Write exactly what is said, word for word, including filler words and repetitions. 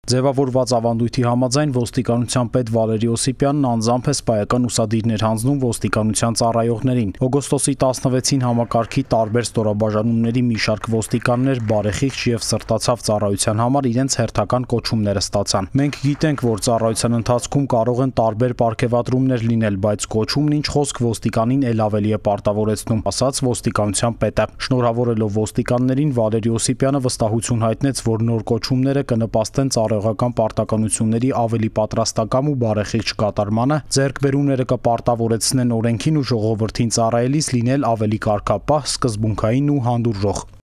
Ձևավորված ավանդույթի համաձայն ոստիկանության պետ Վալերի Օսիպյանն անձամբ է սպայական ուսադիրներ հանձնում ոստիկանության ծառայողներին։ Օգոստոսի տասնվեցին համակարգի տարբեր ստորաբաժանումների մի շարք ոստիկաններ բարեխիղճ եւ սրտացավ ծառայության համար իրենց հերթական կոչումները ստացան։ Մենք գիտենք, որ ծառայության ընթացքում կարող են տարբեր պարգևատրումներ լինել, բայց կոչումն ինչ խոսք ոստիկանին էլ ավելի է պարտավորեցնում, ասաց ոստիկանության պետը։ Շնորհավորելով ոստիկաններին Վալերի Օսիպյանը վստահություն հայտնեց, որ նոր կոչումները կնպաստեն ծառայողական պարտականությունների ավելի պատրաստակամ ու բարեխիղճ կատարմանը, ձեռքբերումները կպարտավորեցնեն օրենքին ու ժողովրդին ծառայելիս լինել ավելի կարգապահ, սկզբունքային ու հանդուրժող։